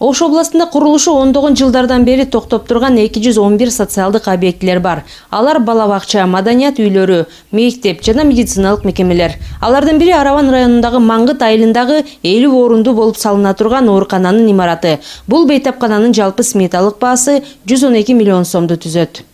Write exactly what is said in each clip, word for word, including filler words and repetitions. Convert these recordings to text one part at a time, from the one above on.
Ош областында курулушу ондогон жылдардан бери токтоп турган эки жүз он бир социалдык объектилер бар. Алар бала бакча, маданият үйлөрү, мектеп жана медициналык мекемелер. Алардын бири Араван районундагы Маңгыт айылындагы элүү орундуу болуп салына турган оорукананын имараты. Бул бейтапкананын жалпы сметалык баасы жүз он эки миллион сомду түзөт.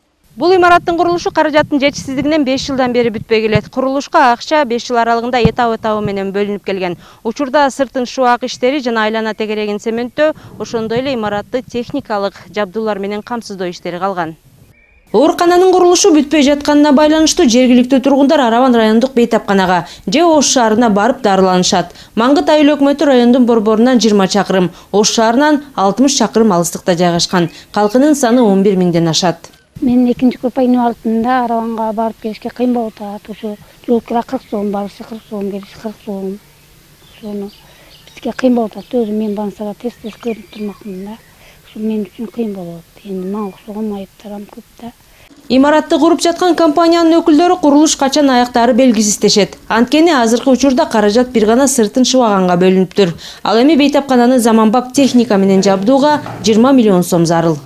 Бул имараттын курулушу каражаттын жетишсиздигинен беш жылдан бери бүтпөй келет. Курулушка акча беш жыл аралыгында этап-этабы менен бөлүнүп келген. Учурда сыртын шуак иштери жана айлана тегерегин цементтөө, ошондой эле имаратты техникалык жабдуулар менен камсыздоо иштери калган. Оорукананын курулушу бүтпөй жатканына байланыштуу жергиликтүү тургундар Араван райондук бейтапканага же Ош шаарына барып дарыланышат. Маңгыт айыл өкмөтү райондун борборунан жыйырма чакырым, Ош шаарынан алтымыш чакырым алыстыкта жайгашкан. Калкынын саны он бир миңден ашат. Мен экинчи группа инвалидтинде Араванга барып келишке кыйын болуп атат. Ошо жол кира кырк сом, барышы кырк сом, келиши кырк сом. Ошону бизге кыйын болуп атат. Өзүм мен больницага тез-тез көрүнүп турмакмын да. Ошо мен үчүн кыйын болот. Эми мага окшогон айыптарым көп да. Имаратты куруп жаткан компаниянын өкүлдөрү курулуш качан аяктары белгисиздешет. Анткени азыркы учурда каражат бир гана сыртын шыбаганга бөлүнүптүр. Ал эми бейтапкананы заманбап техника менен жабдууга жыйырма миллион сом зарыл.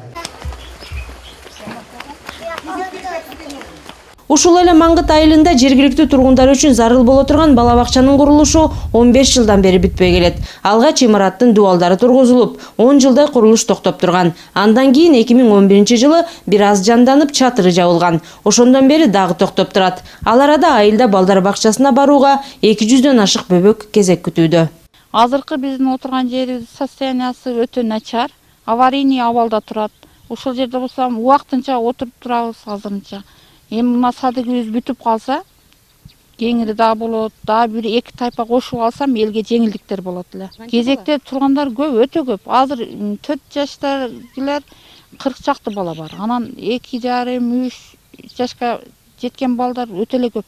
Ушул эле Маңгыт айылында жергиликтүү тургундар үчүн зарыл боло турган бала бакчанын курулушу он беш жылдан бери бүтпөй келет. Алгач имараттын дубалдары тургузулуп, он жылдай курулуш токтоп турган. Андан кийин эки миң он биринчи жылы бир аз жанданып чатыры жабылган. Ошондон бери дагы токтоп турат. Ал арада айылда балдар бакчасына барууга эки жүздөн ашык бөбөк кезек күтүүдө. Азыркы биздин отурган жерибиз состояниясы өтө начар, аварийный абалда турат. Ушул жерде болсо убактынча отуруп турабыз азырынча. Эми мына садыгыбыз бүтүп калса, кеңири да болот, дагы бир эки тайпа кошуп алсам элге жеңилдиктер болот эле. Кезекте тургандар көп, өтө көп. Азыр төрт жаштагылар кырк чакты бала бар. Анан эки жарым, үч жашка жеткен балдар өтө эле көп.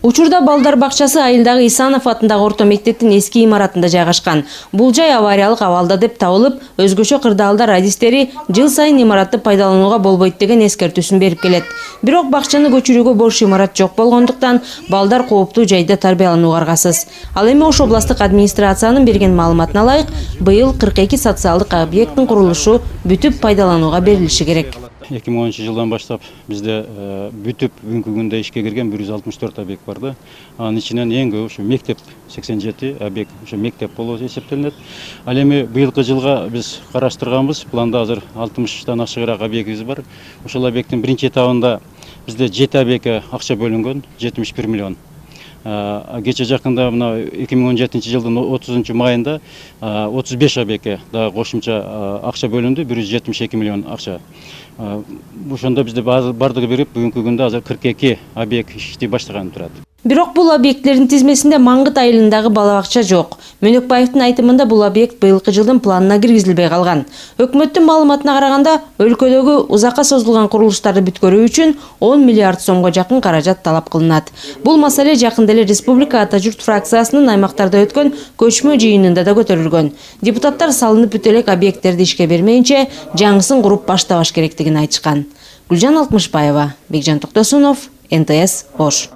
Учурда балдар бакчасы айылдагы Исанов атындагы орто мектептин эски имаратында жайгашкан. Бул жай авариялык абалда деп табылып, өзгөчө кырдаалда радистери жыл сайын имаратты пайдаланууга болбойт деген эскертүүсүн берип келет. Бирок бакчаны көчүрүүгө бош имарат жок болгондуктан балдар кооптуу жайда тарбияланууга аргасыз. Ал эми Ош областык администрациянын берген маалыматына ылайык, быйыл кырк эки социалдык объекттин курулушу бүтүп пайдаланууга берилиши керек. эки миң онунчу жылдан баштап бизде бүтүп бүгүнкү күндө ишке кирген бир жүз алтымыш төрт объект бар да. Анын ичинен эң көп ушу мектеп сексен жети объект ушу мектеп болуп эсептелинет. Ал эми быйылкы жылга биз караштырганбыз, планда азыр алтымыштан ашыгыраак объектибиз бар. Ошол объекттин биринчи этабында бизде жети объектке акча бөлүнгөн, жетимиш бир миллион. Кече жакында мына эки миң он жетинчи жылдын отузунчу майында отуз беш объектке дагы кошумча акча бөлүндү, бир жүз жетимиш эки миллион акча. Ошондо бизде бардыгы бирип бүгүнкү күндө азыр кырк эки объект иштей баштаган турат. Бирок бул объектлердин тизмесинде Маңгыт айылындагы бала бакча жок. Мөнөкбаевдин айтымында бул объект быйылкы жылдын планына киргизилбей калган. Өкмөттүн маалыматына караганда, өлкөдөгү узакка созулган курулуштарды бүткөрүү үчүн он миллиард сомго жакын каражат талап кылынат. Бул маселе жакында эле Республика Ата журт фракциясынын аймактарда өткөн көчмө жыйынында да көтөрүлгөн. Депутаттар салынып бүт элек объекттерди ишке бермейинче жаңысын куруп баштабаш керектигин айтышкан. Гүлжан Алтмышбаева, Бекжан Токтосунов, эн тэ эс Ош.